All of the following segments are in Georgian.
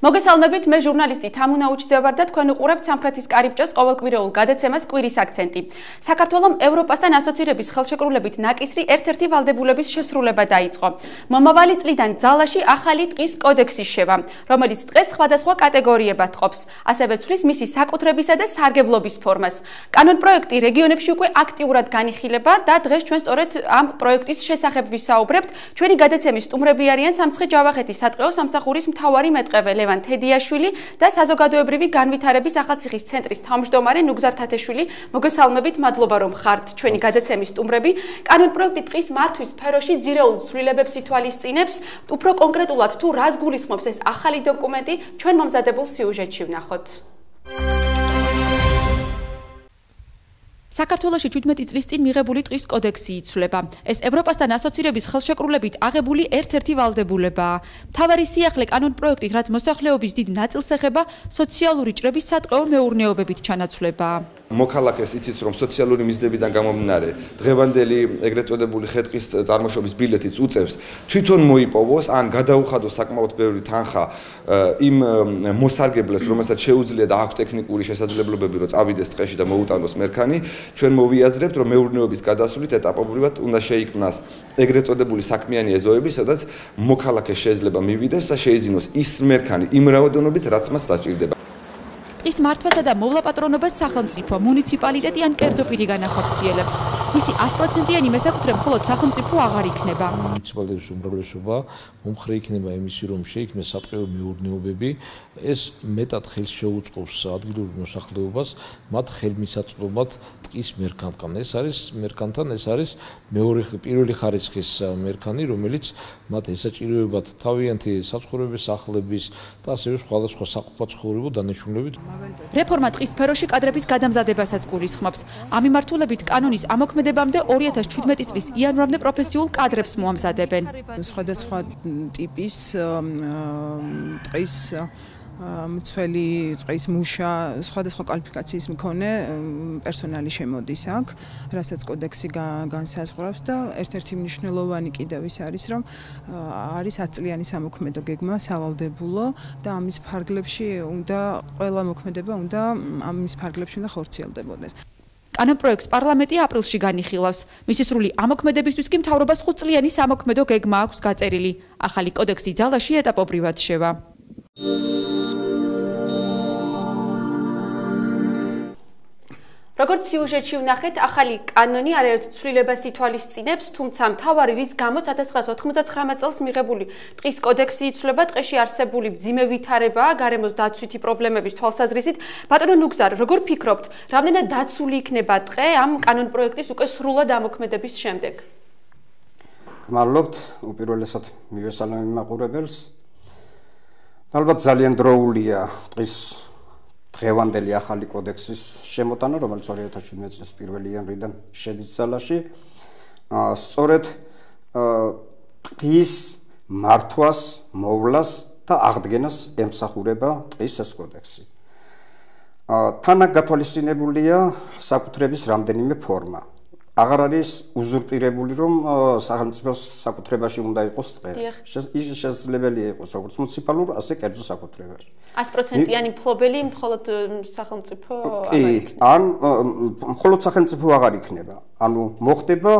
მოგესალმებით, მე ჟურნალისტი თამუნა უჩიძევარ და თქვენ უყურებთ სამხრეთის კარიბჭეს ყოველკვირეულ გადაცემას კვირის აქცენტი. საქართველომ ევროპასთან ასოცირების ხელშეკრულებით ნაკისრი ერთ-ერთი ვალდებულების შესრულება დაიწყო. მომავალი წლიდან ძალაში ახალი ტყის კოდექსი შევა, რომელიც დღეს სხვადასხვა კატეგორიებად ყოფს, ასევე ცვლის მისი საკუთრებისა და სარგებლობის ფორმას. კანონპროექტი რეგიონებში უკვე აქტიურად განიხილება და დღეს ჩვენ სწორედ ამ პროექტის შესახებ ვისაუბრებთ. ჩვენი გადაცემის სტუმრები არიან სამცხე-ჯავახეთის სატყეო სამსახურის მთავარი მეტყევე ლევან თედიაშვილი და საზოგადოებრივი განვითარების ახალციხის ცენტრის თავმჯდომარე ნუგზარ თათეშვილი. მოგესალმებით, მადლობა რომ ხართ ჩვენი გადაცემის სტუმრები. კანონპროექტი ტყის მართვის სფეროში ძირეულ ცვლილებებს ითვალისწინებს. უფრო კონკრეტულად თუ რას გულისხმობს ეს ახალი დოკუმენტი, ჩვენ მომზადებულ სიუჟეტში ვნახოთ. საქართველოში 17 წლის წინ მიღებული ტყის კოდექსი იცვლება. ეს ევროპასთან ასოცირების ხელშეკრულებით აღებული ერთ-ერთი ვალდებულებაა. მთავარი სიახლე კანონპროექტით, რაც მოსახლეობის დიდ ნაწილს ეხება, სოციალური ჭრების სატყეო მეურნეობებით ჩანაცვლებაა. მოქალაქეს იცით რომ სოციალური მიზნებიდან გამომდინარე დღევანდელი ეგრეთ წოდებული ხე-ტყის წარმოშობის ბილეთიც უწევს თვითონ მოიპოვოს ან გადაუხადოს საკმაოდ ბევრი თანხა იმ მოსარგებლეს, რომელსაც შეუძლია და აქვს ტექნიკური შესაძლებლობები რომ წავიდეს ტყეში და მოუტანოს მერქანი. ჩვენ მოვიაზრებთ რომ მეურნეობის გადასვლით ეტაპობრივად უნდა შეიქმნას ეგრეთ წოდებული საქმიანი ეზოები, სადაც მოქალაქეს შეიძლება მივიდეს და შეიძინოს ის მერქანი იმ რაოდენობით, რაც მას საჭირდება. ტყის მართვასა და მოვლაპატრონობას სახელმწიფო, მუნიციპალიტეტი ან კერძო პირი განახორციელებს. მისი 100%-იანი მესაკუთრე მხოლოდ სახელმწიფო აღარ იქნება. მუნიციპალიტეტის უმრავლესობა მომხრე იქნება იმისი, რომ შეიქმნეს სატყეო მეურნეობები. ეს მეტად ხელს შეუწყობს ადგილურ მოსახლეობას, მათ ხელმისაწვდომად ტყის მერქანთან. ეს არის პირველი ხარისხის მერქანი, რომელიც მათ ესაჭიროებათ თავიანთი საცხოვრებელი სახლების და ასევე სხვადასხვა საყოფაცხოვრებო დანიშნულებით. რეფორმა ტყის სფეროში კადრების გადამზადებასაც გულისხმობს. ამ მიმართულებით კანონის ამოქმედებამდე 2017 წლის იანვრამდე პროფესიულ კადრებს მოამზადებენ. სხვადასხვა ტიპის ტყის მცველი ტყის მუშა, სხვადასხვა კვალიფიკაციის მქონე პერსონალი შემოდის აქ, რასაც კოდექსი განსაზღვრავს და ერთ-ერთი მნიშვნელოვანი კიდევ ის არის, რომ არის 10 წლიანი სამოქმედო გეგმა სავალდებულო და ამის ფარგლებში უნდა ყველა მოქმედება ამის ფარგლებში უნდა ხორციელდებოდეს. კანონპროექტს პარლამენტი აპრილში განიხილავს. მისი სრული ამოქმედებისთვის კი მთავრობას 5 წლიანი სამოქმედო გეგმა აქვს გაწერილი. ახალი კოდექსი ძალაში ეტაპობრივად შევა. როგორც სიუჟეტში ვნახეთ, ახალი კანონი არაერთ ცვლილებას ითვალისწინებს, თუმცა მთავარი რის გამოც 1999 წელს მიღებული ტყის კოდექსი იცვლება, ტყეში არსებული მძიმე ვითარებაა გარემოს დაცვითი პრობლემების თვალსაზრისით. ბატონო ნუგზარ, როგორ ფიქრობთ, რამდენად დაცული იქნება ტყე ამ კანონპროექტის უკვე სრულად ამოქმედების შემდეგ? გმადლობთ, უპირველესად მივესალმები მაყურებელს. ალბათ ძალიან დროულია ტყის დღევანდელი ახალი კოდექსის შემოტანა, რომელიც 2017 წლის 1 იანვრიდან შედის ძალაში. სწორედ ტყის მართვას, მოვლას და აღდგენას ემსახურება ტყის ეს კოდექსი. თანაც გათვალისწინებულია საკუთრების რამდენიმე ფორმა. აღარ არის უზურპირებული, რომ სახელმწიფოს საკუთრებაში უნდა იყოს ტყე. ის შესაძლებელია იყოს როგორც მუნიციპალურ, ასე კერძო საკუთრებაში. 100%-იანი მფლობელი მხოლოდ სახელმწიფო ან მხოლოდ სახელმწიფო აღარ იქნება. ანუ მოხდება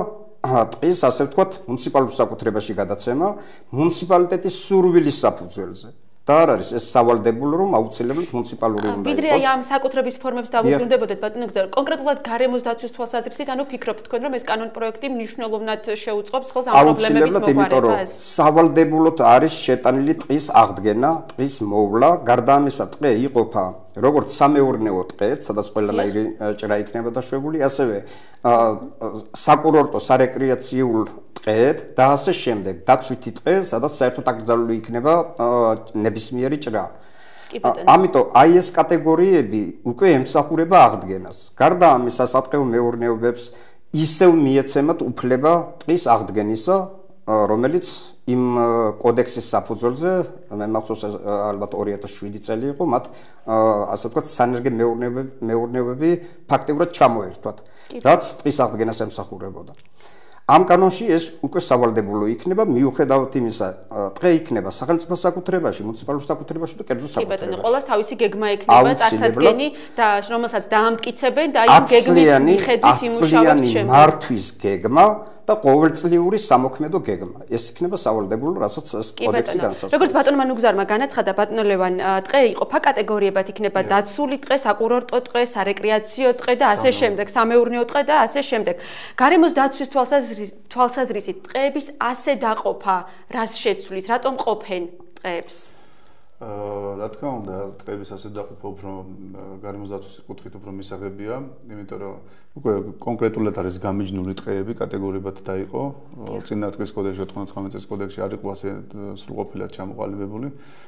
ტყის, ასე ვთქვათ, მუნიციპალურ საკუთრებაში გადაცემა მუნიციპალიტეტის სურვილის საფუძველზე. და არ არის ეს სავალდებულო, რომ აუცილებლად მუნიციპალური უნდა იყოს. ვიდრე ამ საკუთრების ფორმებს დავუბრუნდებოდეთ, ბატონო ნუგზარ, კონკრეტულად გარემოს დაცვის თვალსაზრისით, ანუ ფიქრობთ თქვენ, რომ ეს კანონპროექტი მნიშვნელოვნად შეუწყობს ხელს ამ პრობლემების მოგვარებას? სავალდებულოდ არის შეტანილი ტყის აღდგენა, ტყის მოვლა, გარდა ამისა ტყე იყოფა როგორც სამეურნეო ტყეც, სადაც ყველანაირი ჭრა იქნება დაშვებული, ასევე საკურორტო, სარეკრეაციულ ტყედ და ასე შემდეგ. დაცვითი ტყე, სადაც საერთოდ აკრძალული იქნება ნებისმიერი ჭრა. ამიტომ აი ეს კატეგორიები უკვე ემსახურება აღდგენას. გარდა ამისა, სატყეო მეურნეობებს ისევ მიეცემათ უფლება ტყის აღდგენისა, რომელიც იმ კოდექსის საფუძველზე, მე მახსოვს ალბათ 2007 წელი იყო, მათ ასე ვთქვათ, სანერგე მეურნეობები ფაქტიურად ჩამოერთვათ, რაც ტყის აღდგენას ემსახურებოდა. ამ კანონში ეს უკვე სავალდებულო იქნება, მიუხედავად იმისა, დღე იქნება სახელმწიფო საკუთრებაში, მუნიციპალურ საკუთრებაში და კერძო საკუთრებაში. კი ბატონო, ყოველს თავისი გეგმა ექნება, წარსადგენი და რომელსაც დაამტკიცებენ და იმ გეგმის მიხედვით იმუშავებს შემდეგ. მართვის გეგმა და ყოველწლიური სამოქმედო გეგმა. ეს იქნება სავალდებულო, რასაც ეს კოდექსი განსაზღვრავს. როგორც ბატონმა ნუგზარმა განაცხადა, ბატონო ლევან, დღე იყოფა კატეგორიებად, იქნება დაცული დღე, საკურორტო დღე, სარეკრეაციო დღე და ასე შემდეგ, სამეურნეო დღე და ასე შემდეგ. გარემოს დაცვის თვალსაზრისით დღეების ასე დაყოფა რას შეცვლის, რატომ ყოფენ დღეებს? რა თქმა უნდა, დღეების ასე დაყოფა უფრო გარემოს დაცვის კუთხით უფრო მისაღებია, იმიტომ რომ უკვე კონკრეტულად არის გამიჯნული დღეები კატეგორიებად დაიყო. წინა დღის კოდექსში 99 წლის კოდექსში არ იყო ასე სრულყოფილად ჩამოყალიბებული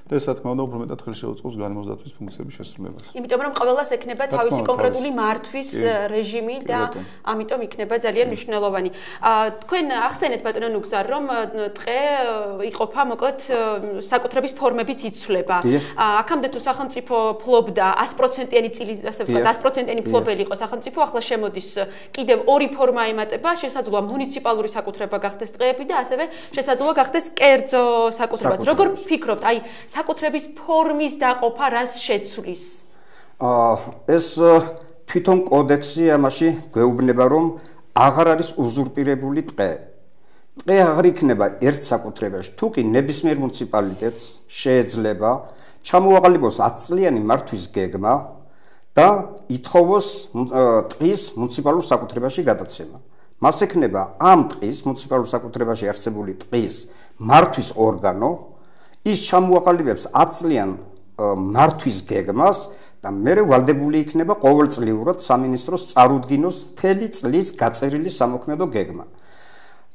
და ეს რა თქმა უნდა უფრო მეტად ხელს შეუწყობს გარემოს დაცვის ფუნქციების შესრულებას. იმიტომ რომ ყველას ექნება თავისი კონკრეტული მართვის რეჟიმი და ამიტომ იქნება ძალიან მნიშვნელოვანი. თქვენ ახსენეთ ბატონო ნუგზარ, რომ დღე იყოფა მოკლედ საკუთრების ფორმებიც იცვლება. აქამდე თუ სახელმწიფო ფლობდა 100%-იანი წილის, ასე ვთქვათ, 100%-იანი ფლობელი იყო სახელმწიფო, ახლა შემოდის კიდევ ორი ფორმა ემატება, შესაძლოა მუნიციპალური საკუთრება გახდეს დღეები და ასევე შესაძლოა გახდეს კერძო საკუთრებაც. როგორ ფიქრობთ, აი საკუთრების ფორმის დაყოფა რას შეცვლის? ეს თვითონ კოდექსი ამაში გვეუბნება, რომ აღარ არის უზურპირებული დღე. დღე აღარ იქნება ერთ საკუთრებაში, თუ კი ნებისმიერ მუნიციპალიტეტს შეიძლება ჩამოაყალიბოს 10 წლიანი მართვის გეგმა და ითხოვოს დღის მუნიციპალურ საკუთრებაში გადაცემა. მას ექნება ამ დღის მუნიციპალურ საკუთრებაში არსებული დღის მართვის ორგანო, ის ჩამოაყალიბებს 10 წლიან მართვის გეგმას და მერე ვალდებული იქნება ყოველწლიურად სამინისტროს წარუდგინოს მთელი წლის გაწერილი სამოქმედო გეგმა.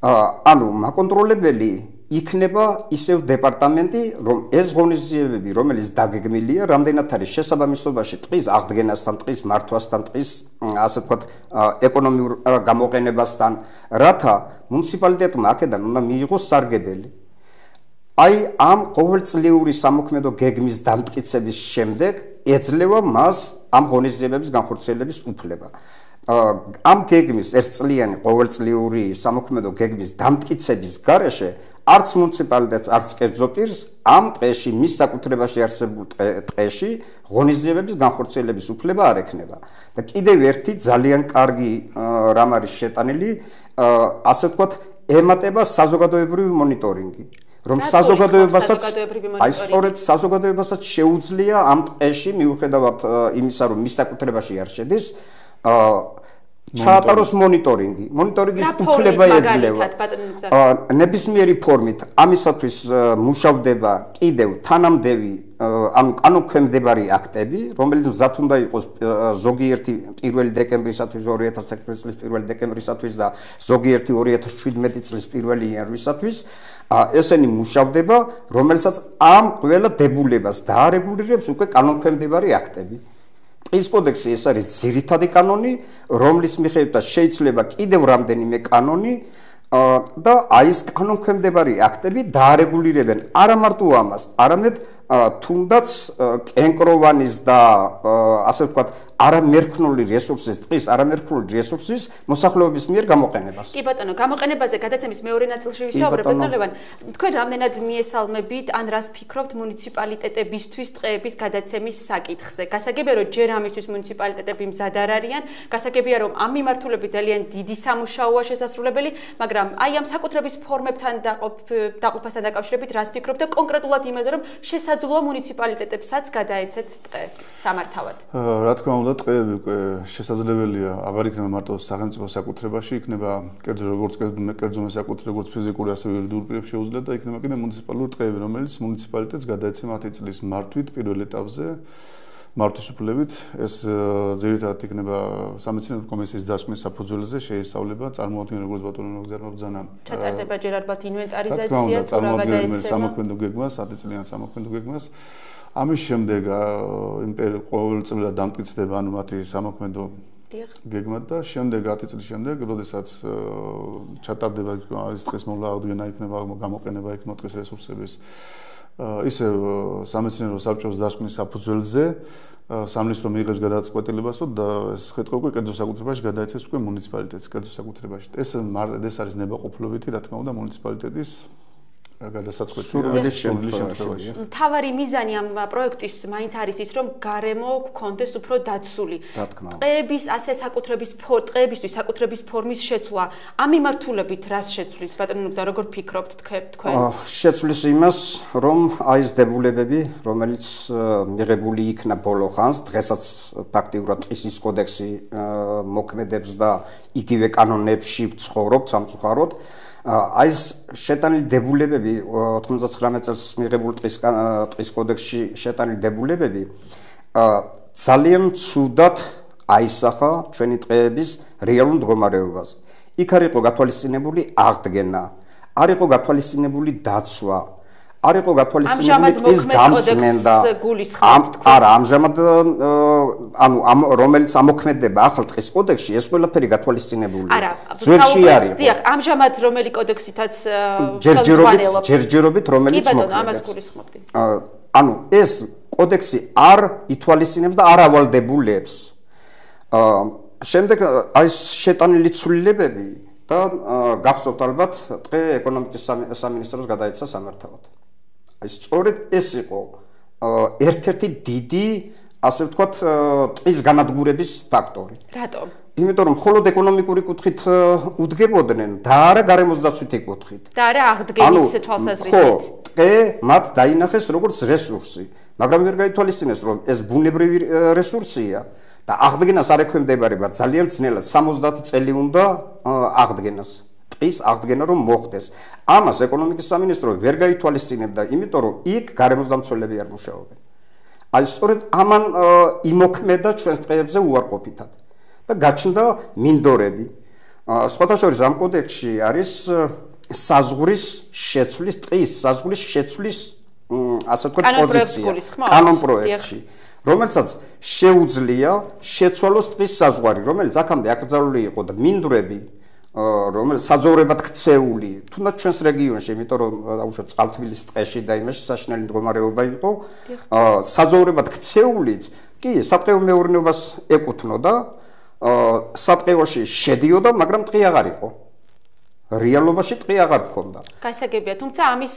ანუ მაკონტროლებელი იქნება ისევ დეპარტამენტი, რომ ეს ღონისძიებები, რომელიც დაგეგმილია, რამდენად არის შესაბამისობაში დღის აღდგენასთან, დღის მართვასთან, დღის ასე ვთქვათ, ეკონომიურ გამოყენებასთან, რათა მუნიციპალიტეტმა აქედან უნდა მიიღოს სარგებელი. აი ამ ყოველწლიური სამოქმედო გეგმის დამტკიცების შემდეგ ეძლევა მას ამ ღონისძიებების განხორციელების უფლება. ამ გეგმის ერთწლიანი ყოველწლიური სამოქმედო გეგმის დამტკიცების გარეშე არც მუნიციპალიტეტს, არც კერძო პირს ამ დღეში მის საკუთრებაში არსებულ დღეში ღონისძიებების განხორციელების უფლება არ ექნება. და კიდევ ერთი ძალიან კარგი რამ არის შეტანილი, ასე ვთქვათ, ემატება საზოგადოებრივი მონიტორინგი. რომ საზოგადოებასაც აი სწორედ საზოგადოებასაც შეუძლია ამ დღეში მიუხედავად იმისა, რომ მის საკუთრებაში არ შედის, ჩაატაროს მონიტორინგი. მონიტორინგის უფლება ეძლევა. ნებისმიერი ფორმით ამისათვის მუშავდება კიდევ თანამდევი ანუ კანონქვემდებარი აქტები, რომელიც მზად უნდა იყოს ზოგიერთი 1 დეკემბრისათვის 2016 წლის 1 დეკემბრისათვის და ზოგიერთი 2017 წლის 1 იანვრისათვის. ესენი მუშავდება, რომელსაც ამ ყველა დებულებას დაარეგულირებს უკვე კანონქვემდებარი აქტები. ის კოდექსი ეს არის ძირითადი კანონი, რომლის მიხედვითაც შეიძლება კიდევ რამდენიმე კანონი და აი ეს კანონქვემდებარი აქტები დაარეგულირებენ არა მარტო ამას, არამედ თუნდაც კენკროვანის და ასე ვთქვათ, არამერქნული რესურსის, დღის არამერქნული რესურსის მოსახლეობის მიერ გამოყენებას. კი ბატონო, გამოყენებაზე გადაცემის მეორე ნაწილში ვისაუბრებ, ბატონო ლევან. თქვენ რამდენად მიესალმებით, ან რას ფიქრობთ მუნიციპალიტეტებისთვის დღეების გადაცემის საკითხზე? გასაგებია, რომ ჯერ ამისთვის მუნიციპალიტეტები მზად არ არიან, გასაგებია, რომ ამ მიმართულებით ძალიან დიდი სამუშაოა შესასრულებელი, მაგრამ აი ამ საკუთრების ფორმებთან დაყოფასთან დაკავშირებით რას ფიქრობთ და კონკრეტულად იმაზე, რომ შესაძლოა მუნიციპალიტეტებსაც გადაეცეთ დღე სამართავად? რა თქმა უნდა, დღეები უკვე შესაძლებელია, აღარ იქნება მარტო სახელმწიფო საკუთრებაში, იქნება კერძო როგორც კერძო საკუთრება, როგორც ფიზიკური, ასევე იურიდიულ პირებს შეუძლია და იქნება კიდევ მუნიციპალური დღეები, რომელიც მუნიციპალიტეტს გადაეცემა 10 წლის მართვით პირველ ეტაპზე. მართვის უფლებით ეს ძირითადად იქნება სამეცნიერო კომისიის დასკვნის საფუძველზე შეისწავლება, წარმოადგენენ როგორც ბატონო ნუგზარმა ბრძანა. ჩატარდება ჯერ ალბათ ინვენტარიზაცია, წარმოადგენენ სამოქმედო გეგმას, 10 წლიან სამოქმედო გეგმას. ამის შემდეგ ყოველწლიურად დამტკიცდება ანუ მათი სამოქმედო გეგმა და შემდეგ 10 წლის შემდეგ, როდესაც ჩატარდება ის დღის მოვლა აღდგენა იქნება გამოყენება იქნება დღის რესურსების ისე სამეცნიერო საბჭოს დასკვნის საფუძველზე სამნისტრო მიიღებს გადაწყვეტილებასო და ეს ხეთქო უკვე კერძო საკუთრებაში გადაეცეს უკვე მუნიციპალიტეტის კერძო საკუთრებაში. ეს არის ნებაყოფლობითი, რა თქმა უნდა, მუნიციპალიტეტის გადასაწყვეტია სურვილის შემთხვევაში. მთავარი მიზანი ამ პროექტის მაინც არის ის, რომ გარემო გქონდეს უფრო დაცული. ტყეების ასე ტყეებისთვის საკუთრების ფორმის შეცვლა ამ მიმართულებით რას შეცვლის ბატონო ნუგზა, როგორ ფიქრობთ თქვენ? შეცვლის იმას, რომ აი ეს დებულებები, რომელიც მიღებული იქნა ბოლო ხანს, დღესაც ფაქტიურად ტყის კოდექსი მოქმედებს და იგივე კანონებში ვცხოვრობთ სამწუხაროდ. აი ეს შეტანილი დებულებები 99 წელს მიღებული ტყის კოდექსში შეტანილი დებულებები ძალიან ცუდად აისახა ჩვენი ტყეების რეალურ მდგომარეობას. იქ არ იყო გათვალისწინებული აღდგენა, არ იყო გათვალისწინებული დაცვა, არ იყო გათვალისწინებული ტყის გამწმენდა. არა, ამჟამად რომელიც ამოქმედება ახალ ტყის კოდექსში, ეს ყველაფერი გათვალისწინებული. ძველში არ იყო. დიახ, ამჟამად რომელი კოდექსითაც ხელმძღვანელობთ? ჯერჯერობით რომელიც მოქმედებს. კი ბატონო, ამას გულისხმობდი. ეს კოდექსი არ ითვალისწინებს და არ ავალდებულებს. შემდეგ აი შეტანილი ცვლილებები და გახსოვთ ალბათ ტყე ეკონომიკის სამინისტროს გადაეცა სამართავად. აი სწორედ ეს იყო ერთ-ერთი დიდი, ასე ვთქვათ, ტყის განადგურების ფაქტორი. რატომ? იმიტომ რომ მხოლოდ ეკონომიკური კუთხით უდგებოდნენ და არა გარემოს დაცვითი კუთხით. და არა აღდგენის თვალსაზრისით. ტყე მათ დაინახეს როგორც რესურსი, მაგრამ ვერ გაითვალისწინეს, რომ ეს ბუნებრივი რესურსია და აღდგენას არ ექვემდებარება ძალიან ძნელად 70 წელი უნდა აღდგენას. ტყის აღდგენა რომ მოხდეს. ამას ეკონომიკის სამინისტრო ვერ გაითვალისწინებდა, იმიტომ რომ იქ გარემოს დამცველები არ მუშაობენ. აი სწორედ ამან იმოქმედა ჩვენს ტყეებზე უარყოფითად და გაჩნდა მინდორები. სხვათა შორის ამ კოდექსში არის საზღვრის შეცვლის, ტყის საზღვრის შეცვლის ასე ვთქვათ პოზიცია კანონპროექტში, რომელსაც შეუძლია შეცვალოს ტყის საზღვარი, რომელიც აქამდე აკრძალული იყო და მინდვრები რომელიც საძოვრებად ქცეული, თუნდაც ჩვენს რეგიონში, იმიტომ რომ დაუშვათ წყალთბილის ტყეში და იმაში საშინელი მდგომარეობა იყო, საძოვრებად ქცეულიც კი სატყეო მეურნეობას ეკუთვნოდა, სატყეოში შედიოდა, მაგრამ ტყე აღარ იყო. რეალობაში ტყე აღარ ქონდა. გასაგებია, თუმცა ამის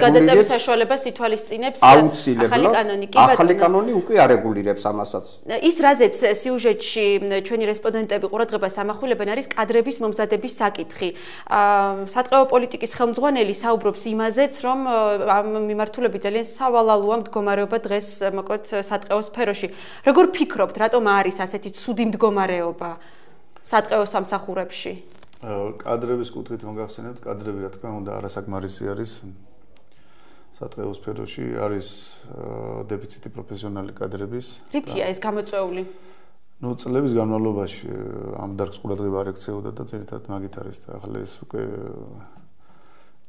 გადაწყვეტის საშუალებას ითვალისწინებს ახალი კანონი. ახალი კანონი უკვე არეგულირებს ამასაც. ის რაზეც სიუჟეტში ჩვენი რესპონდენტები ყურადღებას ამახვილებენ არის კადრების მომზადების საკითხი. სატყეო პოლიტიკის ხელმძღვანელი საუბრობს იმაზეც, რომ ამ მიმართულებით ძალიან სავალალოა მდგომარეობა დღეს მოკლედ სატყეო სფეროში. როგორ ფიქრობთ, რატომ არის ასეთი ცუდი მდგომარეობა სატყეო სამსახურებში? კადრების კუთხით მოგახსენებთ, კადრები რა თქმა უნდა არასაკმარისი არის სატყეო სფეროში, არის დეფიციტი პროფესიონალი კადრების. რითია ეს გამოწვეული? წლების განმავლობაში ამ დარგს ყურადღება არ ექცეოდა და ძირითადად მაგით არის და ახლა ეს უკვე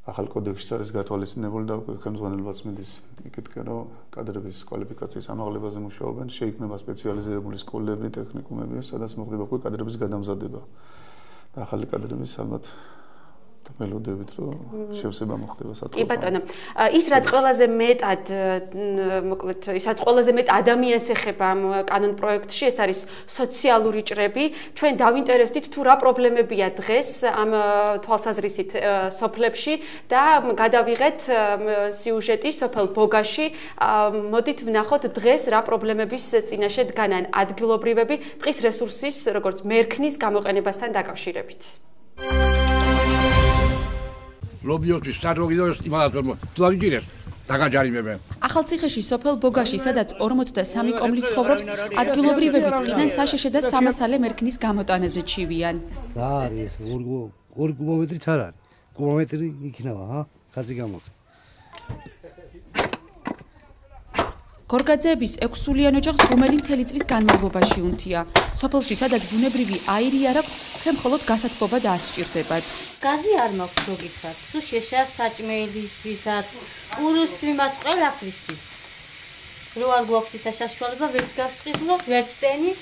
ახალ კოდექსში არის გათვალისწინებული და უკვე ხელმძღვანელობაც მიდის იქითკენ, რომ კადრების კვალიფიკაციის ამაღლებაზე მუშაობენ, შეიქმნება სპეციალიზირებული სკოლები, ტექნიკუმები, სადაც მოხდება უკვე კადრების გადამზადება. და ახალი კადრების ალბათ მელოდებით რომ შევსება მოხდება სატყეო. კი ბატონო, ის რაც ყველაზე მეტად მოკლედ ის რაც ყველაზე მეტ ადამიანს ეხება ამ კანონ პროექტში, ეს არის სოციალური ჭრები. ჩვენ დავინტერესდით თუ რა პრობლემებია დღეს ამ თვალსაზრისით სოფლებში და გადავიღეთ სიუჟეტი სოფელ ბოგაში. მოდით ვნახოთ დღეს რა პრობლემების წინაშე დგანან ადგილობრივები ტყის რესურსის როგორც მერქნის გამოყენებასთან დაკავშირებით. ლობიოთვის საროგიდოს იმალათორმო თუაგიჯირეს დაგაჯარიმებენ. ახალციხეში სოფელ ბოგაში, სადაც 43 კომლი ცხოვრობს, ადგილობრივები ტყიდან საშეშე და სამასალე მერქნის გამოტანაზე ჩივიან. რა არის? 2 კუბომეტრიც არ არის. კუბომეტრი იქნება, ხაზი გამოდის. გორგაძეების 6 სულიან ოჯახს ღუმელი მთელი წლის განმავლობაში უნთია. სოფელში, სადაც ბუნებრივი აირი არ აქვს, ხე მხოლოდ გასათბობა და არ სჭირდებათ. გაზი არ მაქვს, რო გითხრათ. სულ შეშა საჭმელისთვისაც, ყურუსთვიმაც ყველაფრისთვის. რო არ გვაქვს ისა საშუალება, ვერც გასწრიფნოთ, ვერც ტენით.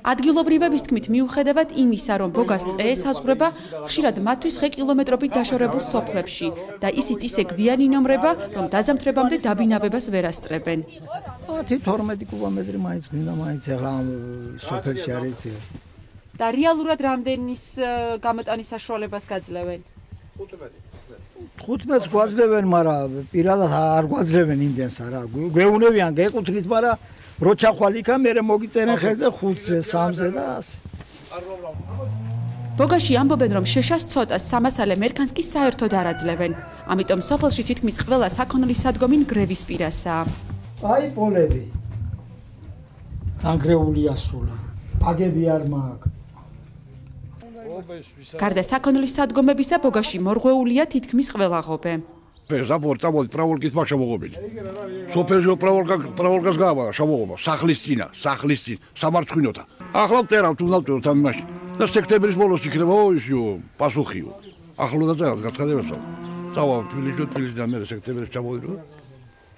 ადგილობრივების თქმით, მიუხედავად იმისა, რომ ბოგას ტყე ესაზღვრება, ხშირად მათთვის ხე კილომეტრობით დაშორებულ სოფლებში და ისიც ისე გვიანი ნომრება, რომ დაზამთრებამდე დაბინავებას ვერ ასწრებენ. 10-12 კუბომეტრი მაინც გვინდა, მაინც ახლა სოფელში არ იცი. და რეალურად რამდენის გამოტანის საშუალებას გაძლევენ? 15-ს გვაძლევენ, მაგრამ პირადად არ გვაძლევენ იმდენს არა. გვეუნებიან გეკუთვნით, მაგრამ რო ჩახვალ იქა, მერე მოგიწერენ ხეზე 5-ზე, 3-ზე და ასე. ბოგაში ამბობენ, რომ შეშას ცოტას სამასალე მერქანს კი საერთოდ არ აძლევენ. ამიტომ სოფელში თითქმის ყველა საქონლისადგომი ნგრევის პირასაა. აი პოლები. დანგრეულია სულა. ბაგები არ მაქვს. გარდა საქონლისადგომებისა, ბოგაში მორღვეულია თითქმის ყველა ღობე. ზაბორტა პრავალკის მაშამოღობილი. სოფელში პრავალკას გავა შამოღობა, სახლის წინა, სამარცხინოთა. ახლა ვწერავთ, უნდა ვწეროთ ამ იმაში. და სექტემბრის ბოლოს იქნება ისიო პასუხიო. ახლო და გაცხადებასო. წავა თბილისში და მე სექტემბერში ჩამოვიდო.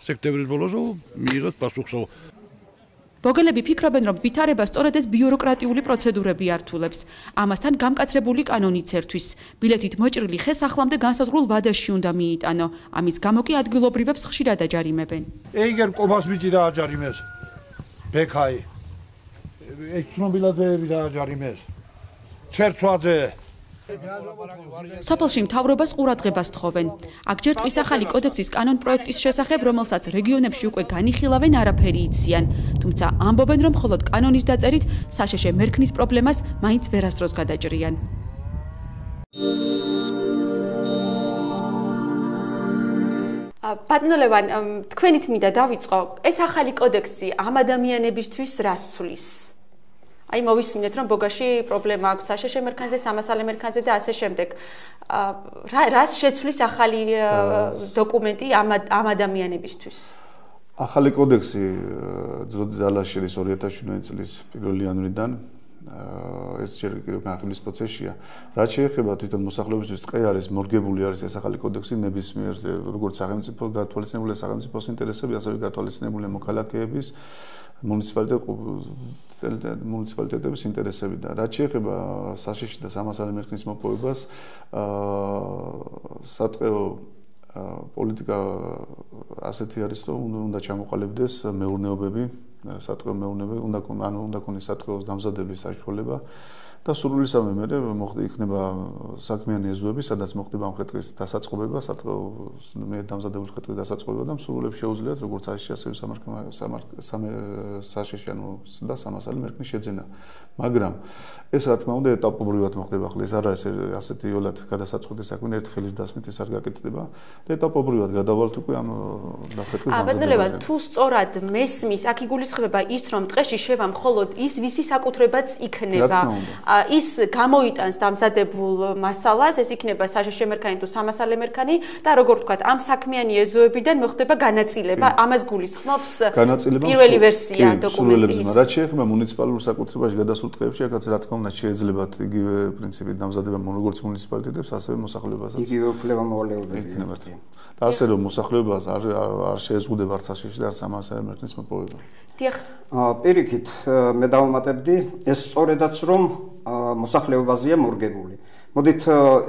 სექტემბრის ბოლოს მიიღოთ პასუხსო. ბოგელები ფიქრობენ, რომ ვითარება სწორედ ეს ბიუროკრატიული პროცედურები ართულებს. ამასთან გამკაცრებული კანონიც ერთვის. ბილეთით მოჭრილი ხეს ახლამდე განსაზღვრულ ვადაში უნდა მიიტანო. ამის გამო კი ადგილობრივებს ხშირად აჯარიმებენ. ეიგერ ყობას ბიჭი და აჯარიმეს. ბექაი. ეს ცნობილადეები და აჯარიმეს. ცერცვაძე. სოფელში მთავრობას ყურადღებას თხოვენ. აქ ჯერ ტყის ახალი კოდექსის კანონ პროექტის შესახებ, რომელსაც რეგიონებში უკვე განიხილავენ, არაფერი იციან. თუმცა ამბობენ, რომ მხოლოდ კანონის დაწერით საშეშე მერქნის პრობლემას მაინც ვერასდროს გადაჭრიან. ბატონო ლევან, თქვენით მინდა დავიწყო, ეს ახალი კოდექსი ამ ადამიანებისთვის რას ცვლის? აი მოვისმინეთ, რომ ბოგაში პრობლემა აქვს საშეშე მერქანზე, სამასალე მერქანზე და ასე შემდეგ. რას შეცვლის ახალი დოკუმენტი ამ ადამიანებისთვის? ახალი კოდექსი ძროძალას შედის 2017 წლის 1 იანვრიდან. ეს ჯერ კიდევ განხილვის პროცესია. რაც შეეხება თვითონ მოსახლეობისთვის, ტყე არის მორგებული არის ეს ახალი კოდექსი ნებისმიერზე, როგორც სახელმწიფო გათვალისწინებულია სახელმწიფოს ინტერესები, ასევე გათვალისწინებულია მოქალაქეების მუნიციპალიტეტების ინტერესები და რაც შეეხება საშეში და სამასალე მერქნის მოპოვებას, სატყეო პოლიტიკა ასეთი არის, რომ უნდა ჩამოყალიბდეს მეურნეობები, სატყეო მეურნეობები, უნდა ქონდეს სატყეოს დამზადების საშუალება და სრულისამე მერე იქნება საქმიანი ეზოები, სადაც მოხდება მხედრის დასაწყობება, სატყეოს დამზადებული მხედრის დასაწყობება და მსურველებს შეუძლიათ როგორც საშეში, ასევე საშეში და სამასალე მერქნის შეძენა. მაგრამ ეს რა თქმა უნდა ეტაპობრივად მოხდება ახლა, ეს არა ასეთი იოლად გადასაწყვეტი საქმე, ერთ ხელის დასმით ეს არ გაკეთდება და ეტაპობრივად გადავალთ უკვე ამ მხედრის დამზადებას. თუ სწორად მესმის, აქ იგულისხმება ის, რომ ტყეში შევა მხოლოდ ის, ვისი საკუთრებაც იქნება. ის გამოიტანს დამზადებულ მასალას, ეს იქნება საშეშე მერქანი თუ სამასალე მერქანი და როგორ ვთქვათ, ამ საქმიანი ეზოებიდან მოხდება განაწილება, ამას გულისხმობს პირველი ვერსია დოკუმენტის. რაც შეეხება მუნიციპალურ საკუთრებაში გადასულ ტყეებში, აქაც რა თქმა უნდა შეეძლებათ იგივე პრინციპით დამზადება როგორც მუნიციპალიტეტებს, ასევე მოსახლეობასაც. იგივე უფლება მოვალეობები იქნებათ. და ასე რომ მოსახლეობას არ შეეზღუდება არც საშეში და არც სამასალე მერქნის მოპოვება. დიახ. პირიქით მე დავუმატებდი, ეს სწორედაც რომ მოსახლეობაზეა მორგებული. მოდით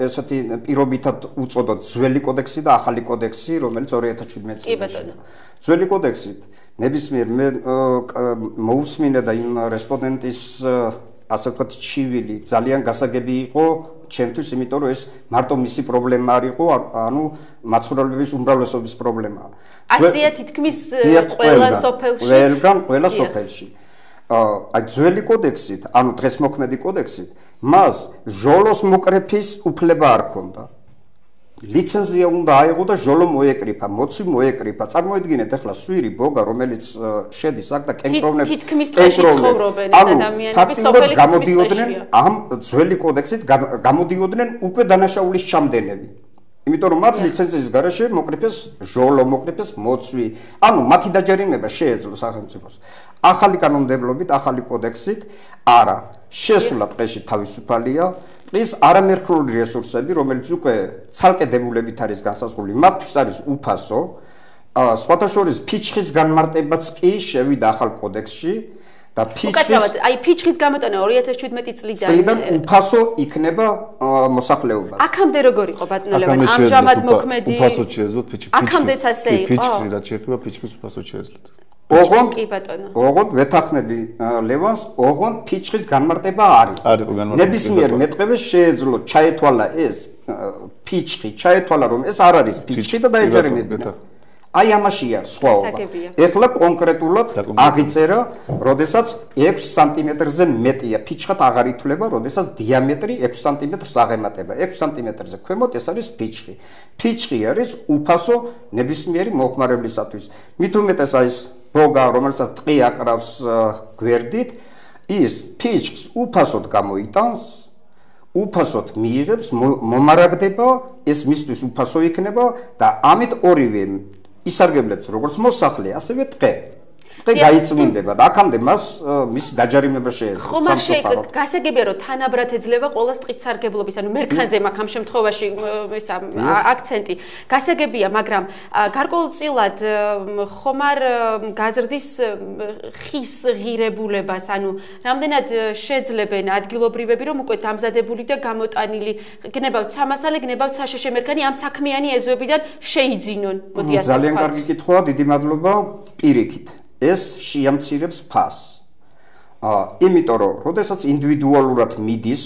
ესეთი პირობითად უწოდოთ ძველი კოდექსი და ახალი კოდექსი, რომელიც 2017 წელს. ძველი კოდექსით ნებისმიერ მოусმინე და იმ რესპონდენტის ასე ვთქვათ ჩივილი ძალიან გასაგები იყო ჩემთვის, იმიტომ რომ ეს მარტო მისი პრობლემა არ იყო, ანუ მაცხოვრებლების უმრავლესობის პრობლემაა. ასია თითქმის ყველა სოფელში. ყველა სოფელში. აი ძველი კოდექსით, ანუ დღეს მოქმედი კოდექსით, მას ჟოლოს მოკრეფის უფლება არ ჰქონდა. ლიცენზია უნდა აიღო და ჟოლო მოეკრიფა, მოცვი მოეკრიფა. წარმოიდგინეთ ახლა სვირი ბოგა, რომელიც შედის აქ და კენტროვნებს თითქმის ტყეში ცხოვრობენ ეს ადამიანები, სოფელი გამოდიოდნენ ამ ძველი კოდექსით, გამოდიოდნენ უკვე დანაშაულის ჩამდენები. იმიტომ რომ მათ ლიცენზიის გარეშე მოკრიფეს ჟოლო, მოკრიფეს მოცვი, ანუ მათი დაჯერიმება შეეძლო სახელმწიფოს. ახალი კანონმდებლობით, ახალი კოდექსით არა, შესულა ტყეში თავისუფალია, ტყის არამერქნული რესურსები, რომელიც უკვე ცალკე დებულებით არის განსაზღვრული, მათთვის არის უფასო, სხვათა შორის ფიჩხის განმარტებაც კი შევიდა ახალ კოდექსში და ფიჩხის გამოტანა 2017 წლიდან უფასო იქნება მოსახლეობას. აქამდე როგორ იყო ბატონო ლევან? ამჟამად მოქმედი უფასოდ შეეძლოთ აქამდეც ასე იყო. ფიჩხი რაც შეეხება ფიჩხის უფასოდ შეეძლოთ. ოღონდ ვეთანხმები ლევანს, ოღონდ ფიჩხის განმარტება არის. ნებისმიერ მეტყევეს შეეძლო ჩაეთვალა ეს ფიჩხი, ჩაეთვალა რომ ეს არ არის ფიჩხი და დაეჯერებინა. აი ამაშია სხვაობა. ეხლა კონკრეტულად აღიწერა, როდესაც 6 სანტიმეტრზე მეტია, ფიჩხად აღარ ითვლება, როდესაც დიამეტრი 6 სანტიმეტრს აღემატება. 6 სანტიმეტრზე ქვემოთ ეს არის ფიჩხი. ფიჩხი არის უფასო ნებისმიერი მოხმარებლისათვის. მით უმეტეს აი ეს ბოგა, რომელსაც ტყი აკრავს გვერდით, ის ფიჩხს უფასოდ გამოიტანს, უფასოდ მიიღებს, მომარაგდება, ეს მისთვის უფასო იქნება და ამით ორივე ისარგებლებს როგორც მოსახლე, ასევე ტყე. ტყე გაიწმინდება და აქამდე მას მისი დაჯარიმება შეეძლო. ხომ არ შეიძლება გასაგებია რომ თანაბრად ეძლევა ყოველს ტყით სარგებლობის, ანუ მერქანზე მაქვს ამ შემთხვევაში ისა აქცენტი. გასაგებია, მაგრამ გარკვეულწილად ხომ არ გაზრდის ხის ღირებულებას, ანუ რამდენად შეძლებენ ადგილობრივები რომ უკვე დამზადებული და გამოტანილი გნებავთ სამასალე, გნებავთ საშეშე მერქანი ამ საქმიანი ეზოებიდან შეიძინონ. მოდი ასე ვთქვათ. ძალიან კარგი კითხვაა, დიდი მადლობა. პირიქით ეს შეამცირებს ფასს. იმიტომ რომ, როდესაც ინდივიდუალურად მიდის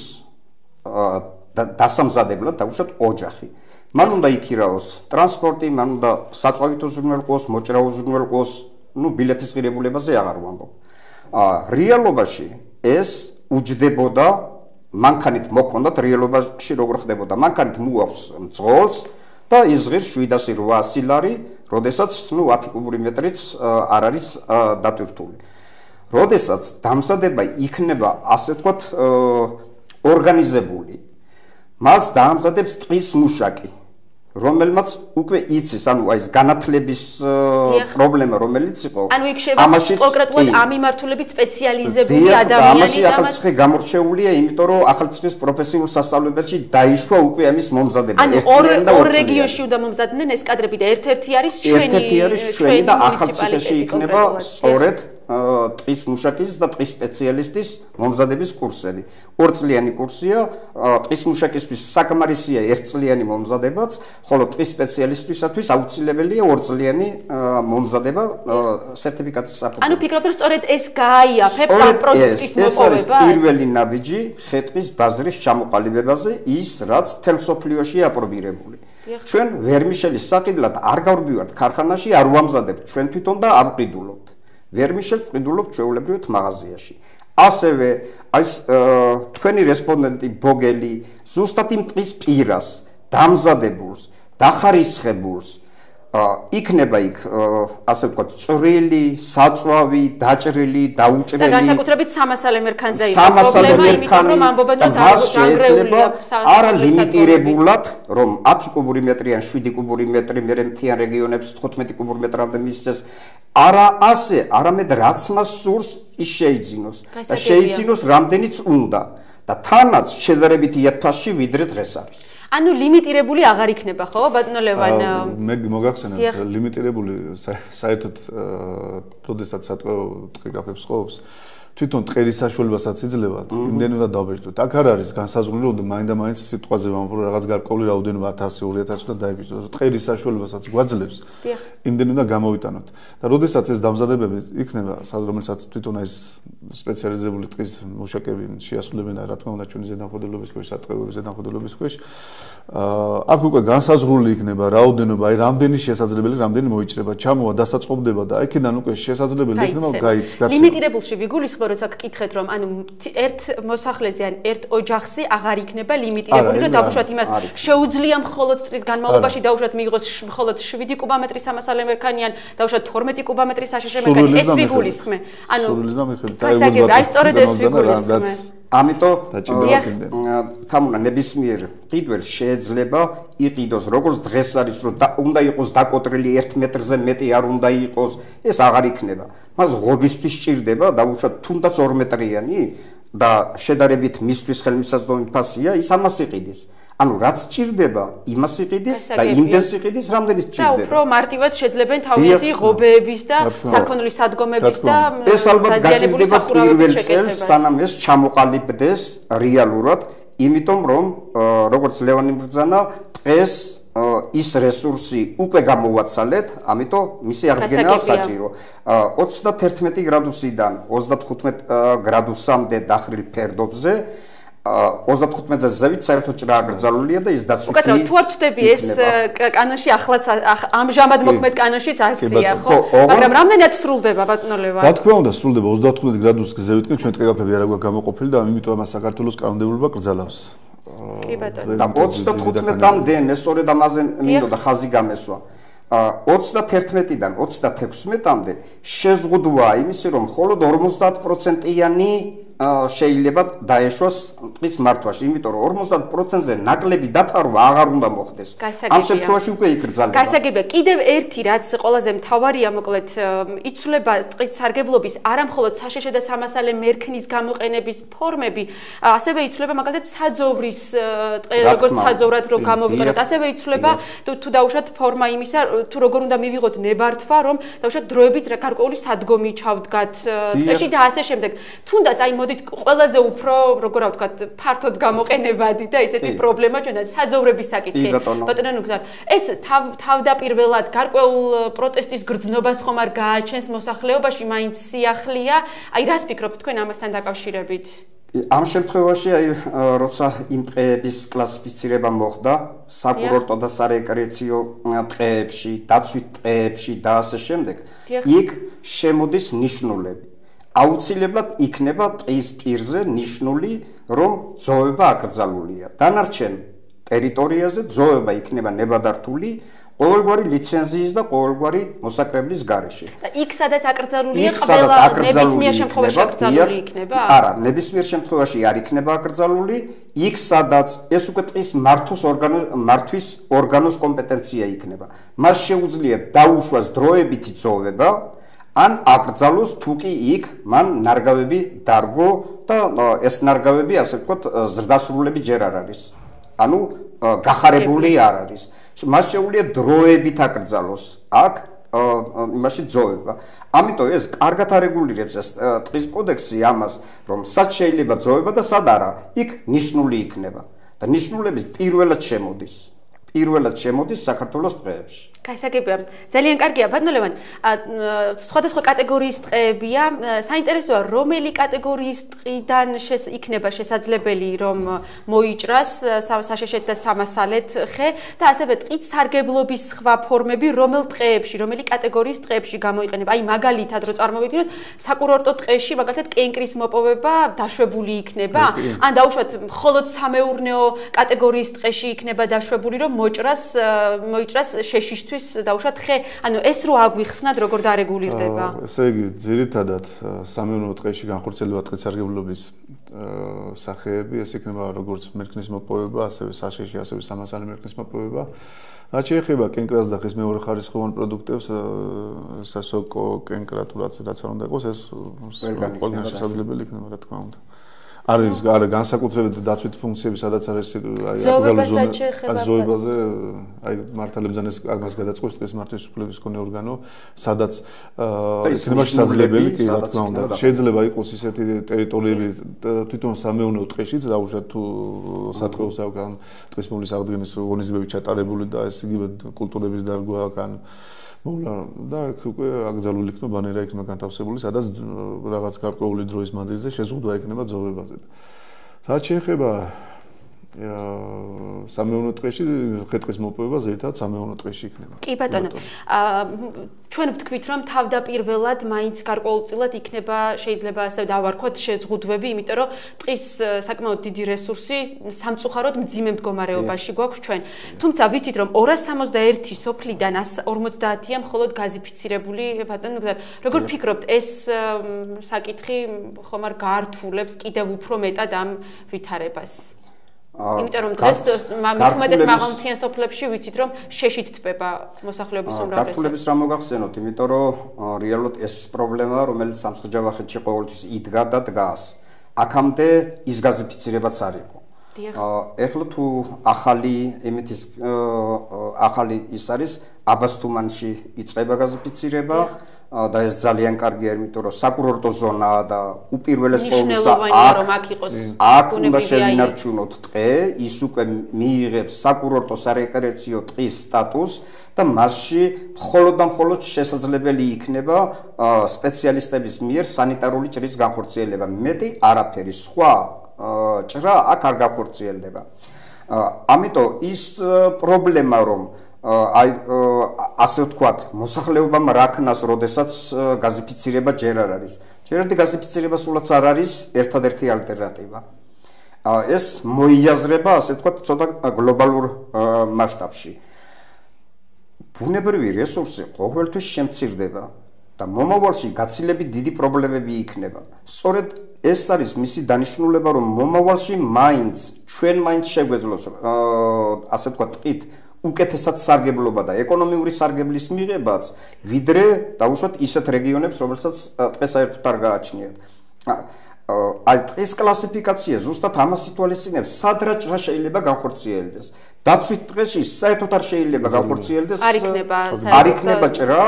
დასამზადებლად, დავუშვათ ოჯახი. მან უნდა იქირაოს ტრანსპორტი, მან უნდა საწვავით უზრუნველყოს, მოჭრა უზრუნველყოს, ბილეთის ღირებულებაზე აღარ ვამბობ. რეალობაში ეს უჯდებოდა, მანქანით მოქონდათ რეალობაში როგორ ხდებოდა. მანქანით მოაქვს მძღოლს და იზღირს 708 ლარი, როდესაც 10 კუბური მეტრიც არ არის დატვირთული. როდესაც დამზადება იქნება, ასე ვთქვათ, ორგანიზებული, მას დაამზადებს ტყის მუშაკი, რომელმაც უკვე იცის, ანუ აი ეს განათლების პრობლემა რომელიც იყო, ანუ იქ შევა კონკრეტულად ამ მიმართულებით სპეციალიზებული ადამიანი ამაში ახალციხე გამორჩეულია, იმიტომ რომ ახალციხის პროფესიულ სასწავლებელში დაიშვა უკვე ამის მომზადება. ანუ ორ რეგიონში უნდა მომზადნენ ეს კადრები და ერთ-ერთი არის ჩვენი და ახალციხეში იქნება სწორედ ტყის მუშაკის და ტყის სპეციალისტის მომზადების კურსები. ორწლიანი კურსია, ტყის მუშაკისთვის საკმარისია ერთწლიანი მომზადებაც, ხოლო ტყის სპეციალისტისათვის აუცილებელია ორწლიანი მომზადება სერტიფიკატის საფუძველზე. ანუ ფიქრობთ, რომ სწორედ ეს გააიაფებს ამ პროდუქტის მოპოვებას? ეს არის პირველი ნაბიჯი ხე-ტყის ბაზრის ჩამოყალიბებაზე, ის რაც მთელ მსოფლიოშია აპრობირებული. ჩვენ ვერმიშელის საყიდლად არ გავდივართ ქარხანაში, არ ვამზადებთ ჩვენ თვითონ და ამყიდულობთ. ვერმიშელს ვყიდულობთ ჩვეულებრივად მაღაზიაში. ასევე აი თქვენი რესპონდენტი ბოგელი ზუსტად იმ ტყის პირას დამზადებულს, დახარისხებულს იქნება იქ ასე ვთქვათ წვრილი, საწვავი, დაჭრილი, დაუჭრელი და განსაკუთრებით სამასალე მერქანზე იყო პრობლემა, იმიტომ რომ ამბობენ რომ დაგრეულია არა ლიმიტირებულად, რომ 10 კუბური მეტრი ან 7 კუბური მეტრი მერე მთიან რეგიონებს 15 კუბურ მეტრამდე მისცეს. არა ასე, არამედ რაც მას სურს, ის შეიძინოს და შეიძინოს რამდენიც უნდა და თანაც შედარებით იაფფასში ვიდრე დღეს არის. ანუ ლიმიტირებული აღარ იქნება, ხო, ბატონო ლევან? მე მოგახსენებთ, ლიმიტირებული საერთოდ როდესაც სატყეო ტყე გაფებს ყოფს, თვითონ ტყერის საშუალებასაც იძლევა, იმდენი უნდა დავბეჭდოთ. აქ არ არის განსაზღვრული, რომ მაინდა-მაინც სიტყვაზე ვამბობ, რომ რაღაც გარკვეული რაოდენობა 1000, 2000 უნდა დაიბეჭდოთ. ტყერის საშუალებასაც გვაძლევს, იმდენი უნდა გამოვიტანოთ. და როდესაც ეს დამზადებები იქნება, რომელსაც თვითონ ეს სპეციალიზებული ტყის მუშაკები შეასრულებენ, რა თქმა უნდა, ჩვენი ზედამხედველობის ქვეშ, სატყეოების ზედამხედველობის ქვეშ, აქ უკვე განსაზღვრული იქნება რაოდენობა, აი რამდენი შესაძლებელი, რამდენი მოიჭრება, ჩამოვა, დასაწყობდება და აქედან უკვე შესაძლებელი იქნება გაიცემა. ლიმიტირებულში ვიგულისხმობ, როცა გკითხეთ, რომ ანუ ერთ მოსახლეზე ან ერთ ოჯახზე აღარ იქნება ლიმიტირებული, რომ დავუშვათ იმას შეუძლია მხოლოდ წლის განმავლობაში დავუშვათ მიიღოს მხოლოდ 7 კუბომეტრი სამასალე მერქანი ან დავუშვათ 12 კუბომეტრი საშეშე მერქანი, ეს ვიგულისხმე. ანუ აი სწორედ ეს ვიგულისხმე. ამიტომ თამუნა ნებისმიერ ყიდველს შეიძლება იყიდოს როგორც დღეს არის რომ უნდა იყოს დაკოტრილი 1 მეტრზე მეტი არ უნდა იყოს ეს აღარ იქნება მას ღობისთვის სჭირდება დავუშვათ თუნდაც 2 მეტრიანი და შედარებით მისთვის ხელმისაწვდომი ფასია ის ამას იყიდის ანუ რაც ჭირდება, იმას იყიდეს და იმდენს იყიდეს, რამდენიც ჭირდება. და უფრო მარტივად შეძლებენ თავიანთი ღობეების და საქონლის სადგომების და ეს ალბათ გაჭირდება პირველ წელს, სანამ ეს ჩამოყალიბდეს რეალურად, იმიტომ რომ როგორც ლევანი ბრძანა დღეს ის რესურსი უკვე გამოვაცალეთ, ამიტომ მისი აღდგენა საჭირო. 31 გრადუსიდან 35 გრადუსამდე დახრილ ფერდობზე 35-ზე ზევით საერთოდ ჭრა აკრძალულია და ის დაცვითი. უკეთრად თუ არ ვწდები ეს კანონში ახლაც ამჟამად მოქმედ კანონშიც ასეა, ხო? მაგრამ რამდენად სრულდება ბატონო ლევანი? რა თქმა უნდა, სრულდება 35 გრადუსის ზევითკენ ჩვენ ტყეპები არ აქვს გამოყოფილი და ამიტომ ამას საქართველოს კანონმდებლობა კრძალავს. კი ბატონო. და 35-მდე მე სწორედ ამაზე მინდოდა ხაზი გამესვა. 31-დან 36-მდე შეზღუდვაა იმისი, რომ მხოლოდ 50%-იანი შეიძლება დაეშვას ტყის მართვაში, იმიტომ რომ 50%-ზე ნაკლები დაფარვა აღარ უნდა მოხდეს. ამ შემთხვევაში უკვე იკრძალება. გასაგებია, კიდევ ერთი რაც ყველაზე მთავარია, მოკლედ, იცვლება ტყის სარგებლობის არამხოლოდ საშეშე და სამასალე მერქნის გამოყენების ფორმები, ასევე იცვლება მაგალითად საძოვრის ტყე, როგორც საძოვრად რო გამოვიყენოთ, ასევე იცვლება თუ დაუშვათ ფორმა იმისა, თუ როგორ უნდა მივიღოთ ნებართვა, რომ დაუშვათ დროებით გარკვეული სადგომი ჩავდგათ ტყეში და ასე შემდეგ. თუნდაც აი მოდით ყველაზე უფრო როგორ ვთქვათ ფართოდ გამოყენებადი და ესეთი პრობლემა ჩვენთან საძოვრების საკითხი. ბატონო ნუგზარ, ეს თავდაპირველად გარკვეულ პროტესტის გრძნობას ხომ არ გააჩენს მოსახლეობაში, მაინც სიახლეა. აი რას ფიქრობთ თქვენ ამასთან დაკავშირებით? ამ შემთხვევაში აი როცა იმ ტყეების კლასიფიცირება მოხდა საკურორტო და სარეკრეაციო ტყეებში, დაცვით ტყეებში და ასე შემდეგ, იქ შემოდის ნიშნულები. აუცილებლად იქნება ტყის პირზე ნიშნული, რომ ძოვება აკრძალულია. დანარჩენ ტერიტორიაზე ძოვება იქნება ნებადართული ყოველგვარი ლიცენზიის და ყოველგვარი მოსაკრებლის გარეშე. და იქ სადაც აკრძალულია ყველა ნებისმიერ შემთხვევაში აკრძალული იქნება? არა, ნებისმიერ შემთხვევაში არ იქნება აკრძალული, იქ სადაც ეს უკვე ტყის მართვის ორგანოს კომპეტენცია იქნება. მას შეუძლია დაუშვას დროებითი ძოვება ან აკრძალოს თუ კი იქ მან ნარგავები დარგო და ეს ნარგავები ასე ვთქვათ ზრდასრულები ჯერ არ არის. ანუ გახარებული არ არის. მას შეუძლია დროებით აკრძალოს აქ იმაში ძოვება. ამიტომ ეს კარგად არეგულირებს ეს ტყის კოდექსი ამას, რომ სად შეიძლება ძოვება და სად არა. იქ ნიშნული იქნება და ნიშნულების პირველად შემოდის საქართველოს ტყეებში. გასაგებია, ძალიან კარგია, ბატონო ლევანი. სხვადასხვა კატეგორიის ტყეებია. საინტერესოა, რომელი კატეგორიის ტყიდან იქნება შესაძლებელი, რომ მოიჭრას საშეშეთ და სამასალეთ ხე და ასევე ტყით სარგებლობის სხვა ფორმები, რომელ ტყეებში, რომელი კატეგორიის ტყეებში გამოიყენება. აი, მაგალითად, რო წარმოვიდგინოთ, საკურორტო ტყეში, მაგალითად, კენკრის მოპოვება დაშვებული იქნება, ან დაუშვათ, მხოლოდ სამეურნეო კატეგორიის ტყეში იქნება დაშვებული, რომ მოიჭრას შეშიშ დაუშვათ ხე, ანუ ეს რო აგვიხსნათ როგორ დარეგულირდება? ესე იგი, ძირითადად სამეურნეო ტყეში განხორციელება ტყის სარგებლობის სახეები, ეს იქნება როგორც მერქნის მოპოვება, ასევე საშეში, ასევე სამასალე მერქნის მოპოვება. რაც შეეხება კენკრას და ხის მეორე ხარისხოვან პროდუქტებს, სასოკო, კენკრა თუ რაც არ უნდა იყოს, ეს ყველგან შესაძლებელი იქნება, რა თქმა უნდა. არის განსაკუთრებით დაცვითი ფუნქციები, სადაც არის ზოებაზე, აი მართლებზანეს ამას გადაწყვეტს ტყის მართვის უფლების მქონე ორგანო, სადაც იქნება შესაძლებელი, კი რა თქმა უნდა. შეიძლება იყოს ისეთი ტერიტორიები თვითონ სამეურნეო ტყეშიც, დაუშვათ თუ სატყეო საგან ტყის მოვლის აღდგენის ღონისძიებები ჩატარებული და ეს იგივე კულტურების დარგვა ან მოვლა და უკვე აკრძალული იქნება ბანერა იქნება განთავსებული, სადაც რაღაც გარკვეული დროის მანძილზე შეზღუდვა იქნება ძოვებაზე. რაც შეეხება სამეურნეო ტყეში, ხე-ტყის მოპოვება ზედმეტად სამეურნეო ტყეში იქნება. კი ბატონო. ჩვენ ვთქვით, რომ თავდაპირველად მაინც გარკვეულწილად იქნება შეიძლება ასე დავარქვათ შეზღუდვები, იმიტომ რომ ტყის საკმაოდ დიდი რესურსი სამწუხაროდ მძიმე მდგომარეობაში გვაქვს ჩვენ. თუმცა ვიცით, რომ 261 სოფლიდან 150-ია მხოლოდ გაზიფიცირებული ბატონო. როგორ ფიქრობთ, ეს საკითხი ხომ არ გაართულებს კიდევ უფრო მეტად ამ ვითარებას? იმიტომ რომ დღეს მithumetes მაღალმთიან სოფლებში ვიცით რომ შეშით თბება მოსახლეობის უმრავლესობა. გართულების რა მოგახსენოთ, იმიტომ რომ რეალურად ეს პრობლემაა, რომელიც სამცხე-ჯავახეთში ყოველთვის იდგა და დგას. აქამდე ის გაზიფიცირებაც არ იყო. ეხლა თუ ახალი იმითის ახალი ის არის აბასთუმანში იწყება გაზიფიცირება და ეს ძალიან კარგია, იმიტომ რომ საკურორტო ზონაა და უპირველეს ყოვლისა აქ უნდა შევინარჩუნოთ ტყე, ის უკვე მიიღებს საკურორტო სარეკრეაციო ტყის სტატუსს და მასში მხოლოდ და მხოლოდ შესაძლებელი იქნება სპეციალისტების მიერ სანიტარული ჭრის განხორციელება. მეტი არაფერი, სხვა ჭრა აქ არ განხორციელდება. ამიტომ ის პრობლემა რომ ასე ვთქვათ, მოსახლეობამ რაქნას, როდესაც გაზიფიცირება ჯერ არ არის. ჯერადი გაზიფიცირება სულაც არ არის ერთადერთი ალტერნატივა. ეს მოიაზრება, ასე ვთქვათ, ცოტა გლობალურ მასშტაბში. ბუნებრივი რესურსი ყოველთვის შემცირდება და მომავალში გაცილებით დიდი პრობლემები იქნება. სწორედ ეს არის მისი დანიშნულება, რომ მომავალში ჩვენ მაინც შეგვეძლოს, ასე ვთქვათ, ტყით უკეთესად სარგებლობა და ეკონომიური სარგებლის მიღებაც, ვიდრე დაუშვათ ისეთ რეგიონებს, რომელსაც ტყე საერთოდ არ გააჩნიათ. აი ტყის კლასიფიკაცია ზუსტად ამას ითვალისწინებს, სად რა ჭრა შეიძლება განხორციელდეს. დაცვით ტყეში საერთოდ არ შეიძლება განხორციელდეს. არ იქნება ჭრა,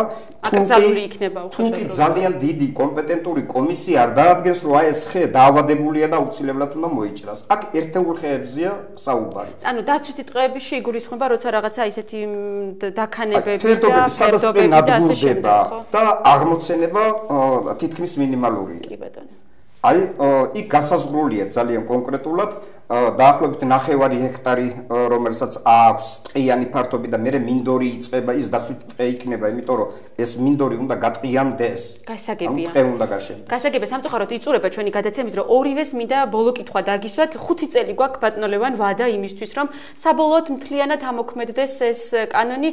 თუნდაც ძალიან დიდი კომპეტენტური კომისია არ დაადგენს, რომ აი ეს ხე დაავადებულია და აუცილებლად უნდა მოიჭრას. აქ ერთეულ ხეებზია საუბარი. ანუ დაცვითი ტყეებში იგულისხმება, როცა რაღაცა ისეთი დაქანებები და ფერდობები და ასე შემდეგ, ხო? და აღმოცენება თითქმის მინიმალური. კი ბატონო. აი იქ გასაზღვრულია ძალიან კონკრეტულად დაახლოებით 9 ჰექტარი, რომელსაც აქვს ტყიანი ფართობი და მერე მინდორი იწყება, ის დაცვითი ტყე იქნება, იმიტომ რომ ეს მინდორი უნდა გატყიანდეს. გასაგებია. ტყე უნდა გაშენდეს. გასაგებია, სამწუხაროდ იწურება ჩვენი გადაცემის, რომ ორივეს მინდა ბოლო კითხვა დაგისვათ. 5 წელი გვაქვს ბატონო ლევან ვადა იმისთვის, რომ საბოლოოდ მთლიანად ამოქმედდეს ეს კანონი.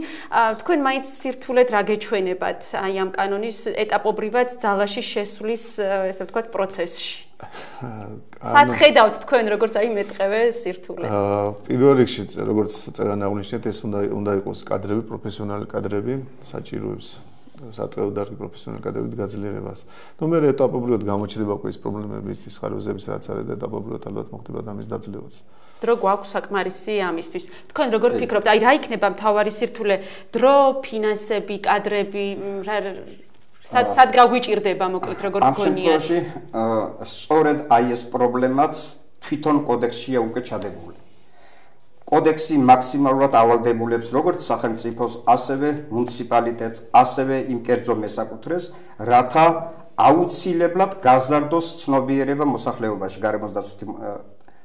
თქვენ მაინც სირთულეთ რა გეჩვენებათ აი ამ კანონის ეტაპობრივად ძალაში შესვლის, ესე ვთქვათ, პროცესში. სად ხედავთ თქვენ როგორც აი მეტყევე სირთულეს? პირველ რიგში როგორც წეგან აღნიშნეთ, ეს უნდა იყოს კადრები, პროფესიონალი კადრები, საჭიროებს სატყეო დარგი პროფესიონალი კადრებით გაძლიერებას. ნუ მე ეტაპობრივად გამოჩნდება უკვე ის პრობლემები, ის ხარვეზების რაც არის და ეტაპობრივად ალბათ მოხდება ამის დაძლევაც. დრო გვაქვს საკმარისი ამისთვის. თქვენ როგორ ფიქრობთ, აი რა იქნება მთავარი სირთულე? დრო, ფინანსები, კადრები, სად გაგვიჭირდება მოკლედ როგორ გქონიათ? ამ შემთხვევაში სწორედ აი ეს პრობლემაც თვითონ კოდექსშია უკვე ჩადებული. კოდექსი მაქსიმალურად ავალდებულებს როგორც სახელმწიფოს, ასევე მუნიციპალიტეტს, ასევე იმ კერძო მესაკუთრეს, რათა აუცილებლად გაზარდოს ცნობიერება მოსახლეობაში გარემოს დაცვითი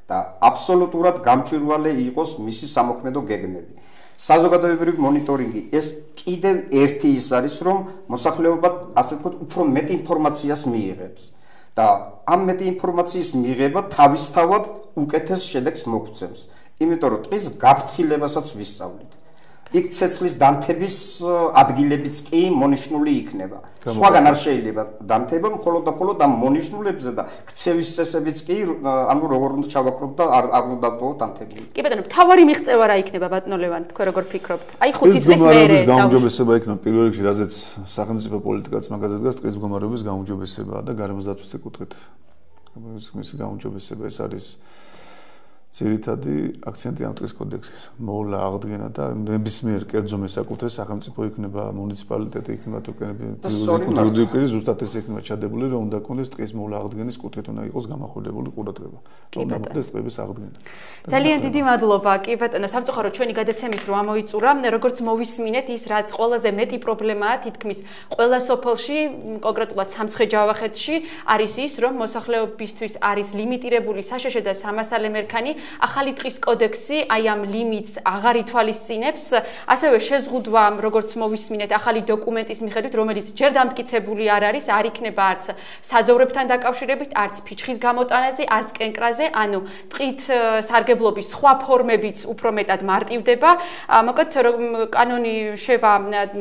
და აბსოლუტურად გამჭვირვალე იყოს მისი სამოქმედო გეგმები. საზოგადოებრივი მონიტორინგი ეს კიდევ ერთი ის არის, რომ მოსახლეობა ასე ვთქვათ, უფრო მეტ ინფორმაციას მიიღებს და ამ მეტ ინფორმაციის მიღება თავისთავად უკეთეს შედეგს მოგცემს. იმიტომ რომ ტყის გაფრთხილებასაც ვისწავლით. იქ ცეცხლის დანთების ადგილებიც კი მონიშნული იქნება. სხვაგან არ შეიძლება დანთება, მხოლოდ და მხოლოდ ამ მონიშნულებზე და ქცევის წესებიც კი, ანუ როგორ უნდა ჩავაქროთ და არ უნდა დავტოვოთ დანთები. კი ბატონო, მთავარი მიღწევა რა იქნება ბატონო ლევან, თქვენ როგორ ფიქრობთ? აი 5 წლის მერე გაუმჯობესება იქნება პირველ რიგში, რაზეც სახელმწიფო პოლიტიკაც მაგაზე დგას, ტყის მდგომარეობის გაუმჯობესება და გარემოს დაცვის კუთხით. მისი გაუმჯობესება ეს არის ძირითადი აქცენტი ამ ტყის კოდექსის მოვლა აღდგენა და ნებისმიერ კერძო მესაკუთრეს სახელმწიფო იქნება, მუნიციპალიტეტი იქნება, თურქენები პირი ზუსტად ეს იქნება ჩადებული, რომ უნდა კონდეს ტყის მოვლა აღდგენის კუთხით უნდა იყოს გამახვილებული ყურადღება. რომ მოხდეს ტყების აღდგენა. ძალიან დიდი მადლობა, კი ბატონო, სამწუხაროდ ჩვენი გადაცემით რო ამოიწურა, როგორც მოვისმინეთ, ის რაც ყველაზე მეტი პრობლემაა თითქმის ყველა სოფელში, კონკრეტულად სამცხე-ჯავახეთში, არის ის, რომ მოსახლეობისთვის არის ლიმიტირებული საშეშე და სამასალე მერქანი. ახალი ტყის კოდექსი აი ამ ლიმიტს აღარ ითვალისწინებს, ასევე შეზღუდვა, როგორც მოვისმინეთ, ახალი დოკუმენტის მიხედვით, რომელიც ჯერ დამტკიცებული არ არის, არ იქნება არც საძოვრებთან დაკავშირებით, არც ფიჩხის გამოტანაზე, არც კენკრაზე, ანუ ტყით სარგებლობის სხვა ფორმებიც უფრო მეტად მარტივდება. მოკლედ, კანონი შევა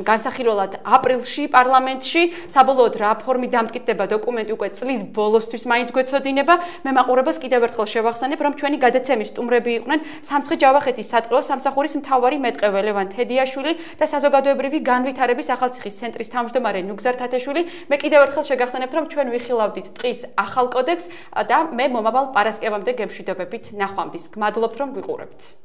განსახილველად აპრილში პარლამენტში, საბოლოოდ რა ფორმით დამტკიცდება დოკუმენტი უკვე წლის ბოლოსთვის მაინც გვეცოდინება. მე მაყურებელს კიდევ ერთხელ შევახსენებ, რომ ჩვენი გადაცემა გადაცემის სტუმრები იყვნენ სამცხე-ჯავახეთის სატყეო სამსახურის მთავარი მეტყევე ლევან თედიაშვილი და საზოგადოებრივი განვითარების ახალციხის ცენტრის თავმჯდომარე ნუგზარ თათაშვილი. მე კიდევ ერთხელ შეგახსენებთ, რომ ჩვენ ვიხილავდით ტყის ახალ კოდექსს და მე მომავალ პარასკევამდე გემშვიდობებით ნახვამდის. გმადლობთ, რომ ვიყურებთ.